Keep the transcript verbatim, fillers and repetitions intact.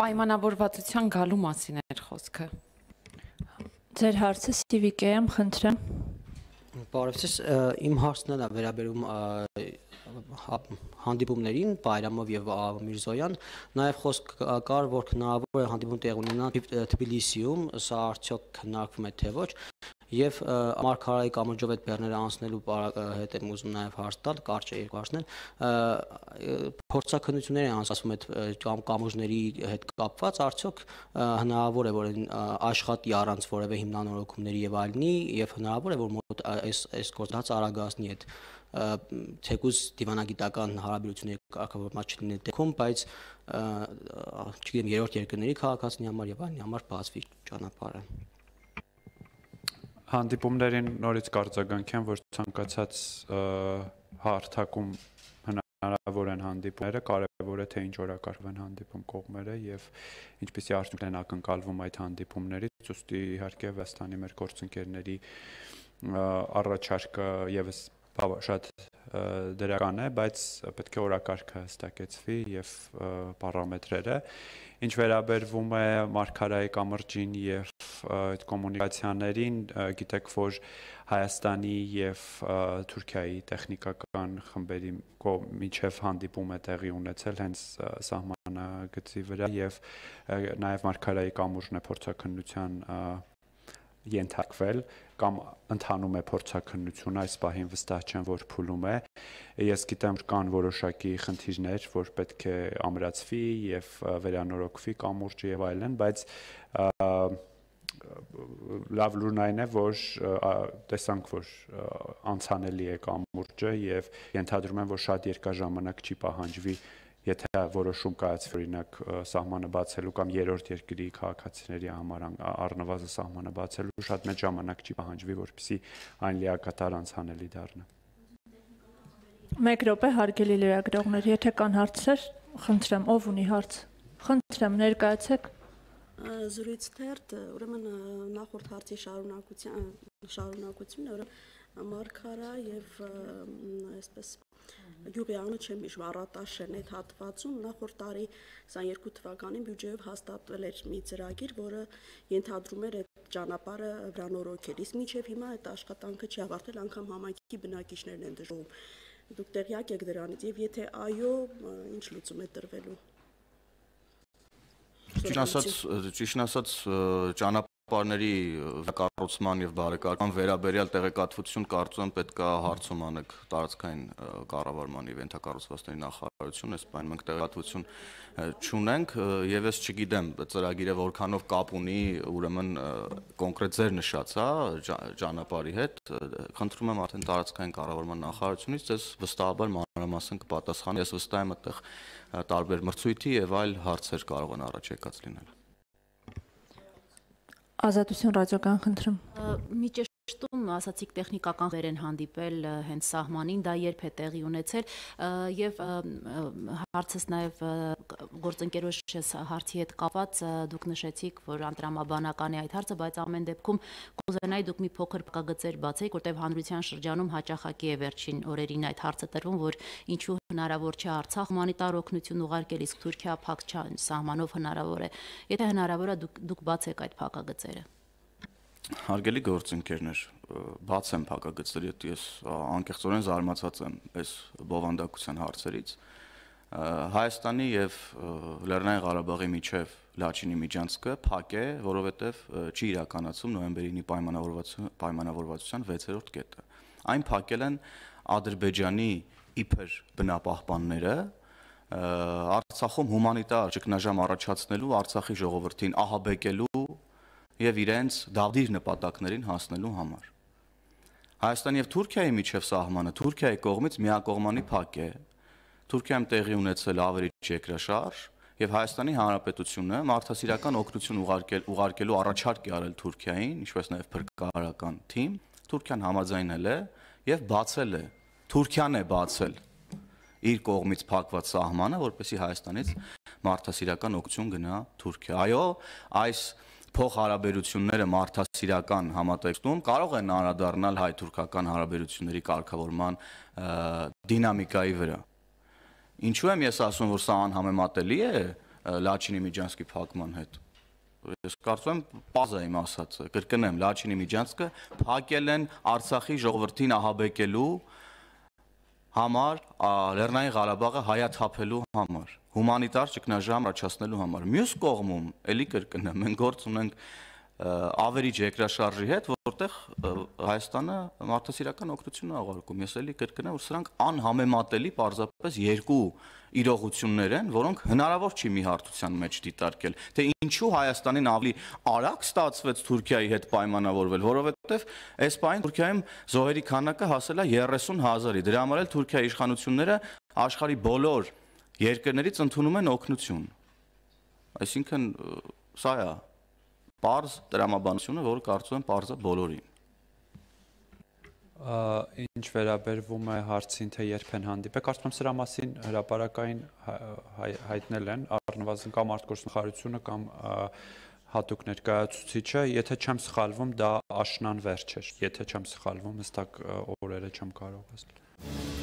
Պայմանավորվածության գալու մասին էր խոսքը։ Ձեր հարցը Սիվիկ եմ, խնդրեմ։ Բարև ձեզ, իմ հարցն է վերաբերում հանդիպումներին Բայրամով եւ Միրզոյան, նաեւ խոսք կար, որ հնարավոր է հանդիպում տեղ ունենա Թբիլիսիում, սա արդյոք քննարկվում է թե ոչ, եւ Մարգարայի կամրջով այդ բեռները անցնելու հետ եմ ուզում նաեւ հարց տալ, կարճ է երկու հարցներ, փորձաքննություններ են անցկացվում այդ կամուրջների հետ կապված, արդյոք հնարավոր է որ աշխատի առանց որևէ հիմնանորոգումների եւ այլնի եւ հնարավոր է որ մոտ այս այս գործընթացը արագացնի այդ թեկուզ դիվանագիտական հարաբերությունների կարգավորված չլինի դեպքում, բայց չգիտեմ երրորդ երկրների քաղաքացիների համար եւ այլնի համար բացվի ճանապարհը։ Հանդիպումներին նորից կարձագանքեմ, որ ցանկացած հարթակում հնարավոր են հանդիպումները, կարևոր է թե ինչ օրակարգ են հանդիպում կողմերը եւ ինչպիսի արդյունքներ են ակնկալվում այդ հանդիպումներից, ուստի իհարկե Վստանի մեր գործընկերների առաջարկը եւս շատ դրական է, բայց պետք է օրակարգը հստակեցվի եւ պարամետրերը։ Ինչ վերաբերվում է Մարգարայի կամրջին եւ այդ կոմունիկացիաներին, գիտեք, որ Հայաստանի եւ Թուրքիայի տեխնիկական խմբերի միջև հանդիպում է տեղի ունեցել հենց սահմանագծի վրա եւ նաեւ Մարգարայի կամուրջն է փորձաքննության ենթարկվել կամ ընթանում է փորձաքննությունը, այս պահին վստահ չեմ, որ փուլում է։ Ես գիտեմ, որ կան որոշակի խնդիրներ, որ պետք է ամրացվի եւ վերանորոգվի կամուրջը եւ այլն, բայց լավ լուրն այն է, որ տեսանք, որ անցանելի է կամուրջը եւ ենթադրում եմ, որ շատ երկար ժամանակ չի պահանջվի, եթե որոշում կայացվի օրինակ սահմանը բացելու կամ երրորդ երկրի քաղաքացիների համար առնվազն սահմանը բացելու շատ մեծ ժամանակ չի պահանջվի, որպեսզի այն լիակատար անցանելի դառնա։ Մեկ րոպե հարգելի լրագրողներ, եթե կան հարցեր, խնդրեմ, ով ունի հարց։ Խնդրեմ, ներկայացեք։ Զրույց թերթ, ուրեմն նախորդ հարցի շարունակության շարունակությունը, ուրեմն Մարգարա եւ այսպես Յուղի անունը չեմ հիշում, Առատաշեն այդ հատվածում նախորդ տարի քսաներկու թվականին բյուջեով հաստատվել էր մի ծրագիր, որը ենթադրում էր այդ ճանապարհը վրանորոգել։ Իսկ մինչև հիմա այդ աշխատանքը չի ավարտվել, անգամ համայնքի բնակիչներն են դժողում։ Դուք տեղյակ եք դրանից եւ եթե այո, ինչ լուծում է տրվելու։ Ճիշտ ասած, ճիշտ ասած ճանապարհների կառուցման եւ բարեկարգման վերաբերյալ տեղեկատվություն կարծում եմ պետք է հարցում անեք տարածքային կառավարման եւ ենթակառուցվածքների նախարարություն, այս բանը մենք տեղեկատվություն չունենք եւ ես չգիտեմ ծրագիրը որքանով կապ ունի ուրեմն կոնկրետ ձեր նշած, հա, ճանապարհի հետ, խնդրում եմ արդեն տարածքային կառավարման նախարարությունից ձեզ վստահաբար մանրամասն կպատասխանի, ես վստահ եմ այդտեղ տարբեր մրցույթի եւ այլ հարցեր կարող են առաջ եկած լինել։ Ազատություն ռադիոկան խնդրում։ Մի ճշտում ասացիք տեխնիկական վեր են հանդիպել հենց սահմանին, դա երբ է տեղի ունեցել եւ հարցս նաեւ գործընկերոջս հարցի հետ կապված դուք նշեցիք, որ անդրամաբանական է այդ հարցը, բայց ամեն դեպքում կուզենայի դուք մի փոքր փակագծեր բացեիք, որտեղ հանրության շրջանում հաճախակի է վերջին օրերին այդ հարցը տրվում, որ ինչու հնարավոր չէ Արցախ հումանիտար օգնություն ուղարկել, իսկ Թուրքիա փակ սահմանով հնարավոր է։ Եթե հնարավոր է դուք դուք բացեք այդ փակագծերը։ Հարգելի գործընկերներ, բաց եմ փակագծերի, ես անկեղծորեն զարմացած եմ այս բովանդակության հարցերից։ Հայաստանի եւ Լեռնային Ղարաբաղի միջև Լաչինի միջանցքը փակ է, որովհետեւ չի իրականացում նոյեմբերի պայմանավորվածության վեցերորդ կետը։ Այն փակել են Ադրբեջանի իբր բնապահպանները Արցախում հումանիտար ճգնաժամ առաջացնելու, Արցախի ժողովրդին ահաբեկելու եւ իրենց դավդիր նպատակներին հասնելու համար։ Հայաստանի եւ Թուրքիայի միջև սահմանը Թուրքիայի կողմից միակողմանի փակ է։ Թուրքիայում տեղի ունեցել ավերիչ երկրաշարժ եւ Հայաստանի Հանրապետությունը մարդասիրական օգնություն ուղարկել ուղարկելու առաջարկ է արել Թուրքիային, ինչպես նաեւ փրկարարական թիմ, Թուրքիան համաձայնել է եւ բացել է։ Թուրքիան է բացել իր կողմից փակված սահմանը, որպեսզի Հայաստանից մարդասիրական օգնություն գնա Թուրքիա։ Այո, այս փոխհարաբերությունները մարդասիրական համատեքստում կարող են անդրադառնալ հայ-թուրքական հարաբերությունների կարգավորման դինամիկայի վրա։ Ինչու եմ ես ասում, որ սա անհամեմատելի է Լաչինի Միջանցքի փակման հետ։ Ես կարծում եմ պարզ է իմ ասածը, կրկնեմ, Լաչինի Միջանցքը փակել են Արցախի ժողովրդին ահաբեկելու համար, Լեռնային Ղարաբաղը հայաթափելու համար, հումանիտար ճգնաժամ առաջացնելու համար։ Մյուս կողմում, էլի կրկնեմ, մենք գործ ունենք ավերիչ երկրաշարժի հետ, որտեղ Հայաստանը մարդասիրական օգնություն է ուղարկում։ Ես էլի կրկնեմ, որ սրանք անհամեմատելի պարզապես երկու իրողություններ են, որոնք հնարավոր չի մի հարթության մեջ դիտարկել։ Թե ինչու Հայաստանին ավելի արագ ստացվեց Թուրքիայի հետ պայմանավորվել, որովհետև այս պահին Թուրքիայում զոհերի քանակը հասել է երեսուն հազարի։ Դրա համար էլ Թուրքիայի իշխանությունները աշխարհի բոլոր երկրներից ընդունում են օգնություն։ Այսինքն սա է պարզ տրամաբանությունը, որը կարծում եմ պարզ է բոլորին։ Ինչ վերաբերվում է հարցին, թե երբ են հանդիպել, կարծում եմ սրա մասին հրապարակային հայտնել են, առնվազն կամ արտգործնախարարությունը կամ հատուկ ներկայացուցիչը, եթե չեմ սխալվում, դա աշնան վերջ էր, եթե չեմ սխալվում, հստակ օրերը չեմ կարող ասել։